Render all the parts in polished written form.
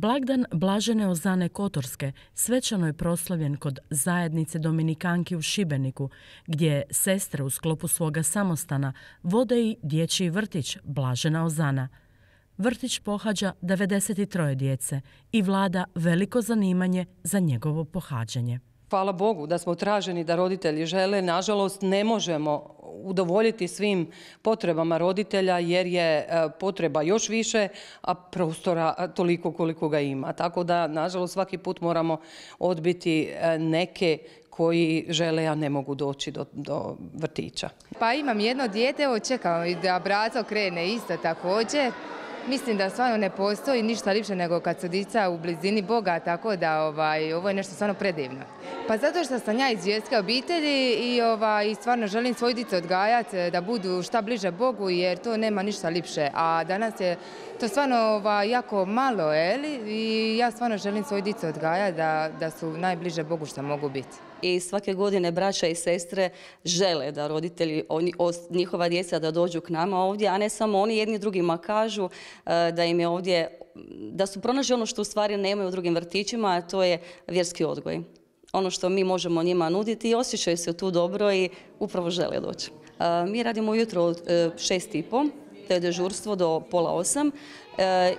Blagdan Blažene Ozane Kotorske svečano je proslavljen kod zajednice Dominikanki u Šibeniku, gdje sestre u sklopu svoga samostana vode i dječji vrtić Blažena Ozana. Vrtić pohađa 93 djece i vlada veliko zanimanje za njegovo pohađanje. Hvala Bogu da smo traženi, da roditelji žele. Nažalost, ne možemo udovoljiti svim potrebama roditelja jer je potreba još više, a prostora toliko koliko ga ima. Tako da, nažalost, svaki put moramo odbiti neke koji žele, a ne mogu doći do vrtića. Pa imam jedno dijete, evo čekam i da braco krene isto također. Mislim da stvarno ne postoji ništa ljepše nego kad su djeca u blizini Boga, tako da ovo je nešto stvarno predivno. Pa zato što sam ja iz vjerske obitelji i stvarno želim svoju djecu odgajati da budu šta bliže Bogu jer to nema ništa ljepše. A danas je to stvarno jako malo, i ja stvarno želim svoju djecu odgajati da su najbliže Bogu što mogu biti. I svake godine braća i sestre žele da roditelji, njihova djeca da dođu k nama ovdje, a ne samo oni jedni drugima kažu da im je ovdje, da su pronašli ono što u stvari nemaju u drugim vrtićima, a to je vjerski odgoj. Ono što mi možemo njima nuditi i osjećaju se tu dobro i upravo žele doći. Mi radimo ujutro od 6:30, to je dežurstvo do 7:30,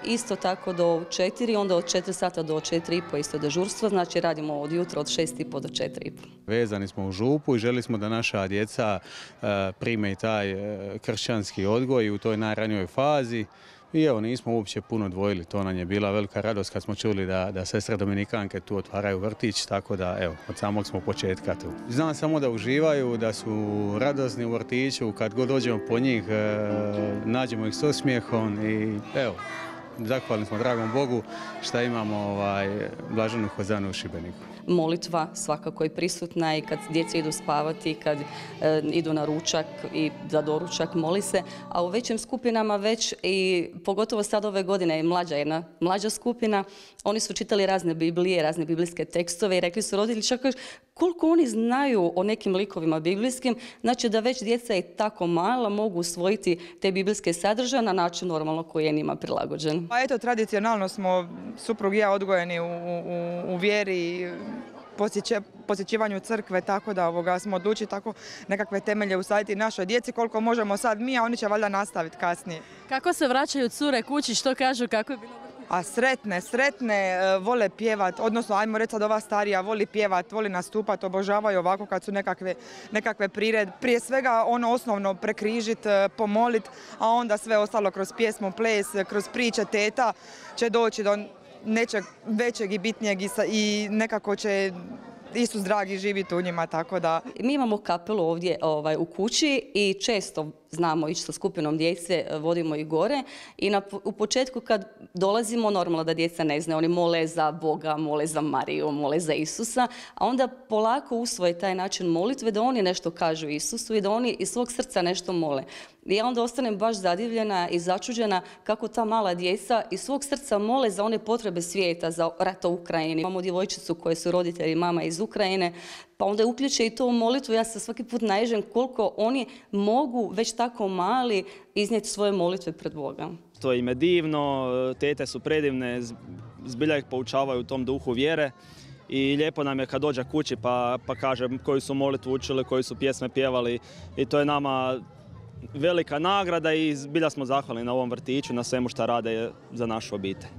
isto tako do 4, onda od 4 sata do 4:30 isto dežurstvo, znači radimo od jutra od 6:30 do 4:30. Vezani smo u župu i želi smo da naša djeca prime i taj kršćanski odgoj u toj najranijoj fazi. I evo, nismo uopće puno dvojili, to nam je bila velika radost kad smo čuli da sestre Dominikanke tu otvaraju vrtić, tako da evo, od samog smo početka tu. Znam samo da uživaju, da su radosni u vrtiću, kad god dođemo po njih, nađemo ih s osmijehom i evo, zahvalni smo dragom Bogu što imamo Blaženu Ozanu u Šibeniku. Molitva svakako je prisutna i kad djeca idu spavati, kad idu na ručak i za doručak moli se, a u većim skupinama već i pogotovo sad ove godine je jedna mlađa skupina, oni su čitali razne Biblije, razne biblijske tekstove i rekli su roditelji čak koliko oni znaju o nekim likovima biblijskim, znači da već djeca i tako mala mogu usvojiti te biblijske sadržaje na način normalno koji je njima prilagođen. Pa eto, tradicionalno smo suprug i ja odgojeni u vjeri, posjećivanju crkve, tako da smo odlučili tako nekakve temelje usaditi našoj djeci koliko možemo sad mi, a oni će valjda nastaviti kasnije. Kako se vraćaju cure kući, što kažu, kako je bilo? A sretne, vole pjevat, odnosno ajmo reći sad ova starija voli pjevat, voli nastupat, obožavaju ovako kad su nekakve priredbe. Prije svega ono osnovno prekrižit, pomolit, a onda sve ostalo kroz pjesmu, ples, kroz priče teta će doći do nečeg većeg i bitnijeg i nekako će Isus dragi živiti u njima, tako da... Mi imamo kapelu ovdje u kući i često znamo ići sa skupinom djece, vodimo ih gore i u početku kad dolazimo normalno da djeca ne znaju, oni mole za Boga, mole za Mariju, mole za Isusa, a onda polako usvoje taj način molitve da oni nešto kažu Isusu i da oni iz svog srca nešto mole. I ja onda ostanem baš zadivljena i začuđena kako ta mala djeca iz svog srca mole za one potrebe svijeta, za rat u Ukrajini. Imamo djevojčicu koje su roditelji mama iz Ukrajine, pa onda uključe i to u molitvu. Ja se svaki put naiđem koliko oni mogu već tako mali iznijeti svoje molitve pred Boga. To im je divno, tete su predivne, zbilja ih poučavaju u tom duhu vjere. I lijepo nam je kad dođe kući pa kaže koju su molitvu učili, koju su pjesme pjevali i to je nama velika nagrada i zbilja smo zahvalni na ovom vrtiću, na svemu što rade za našu obitelj.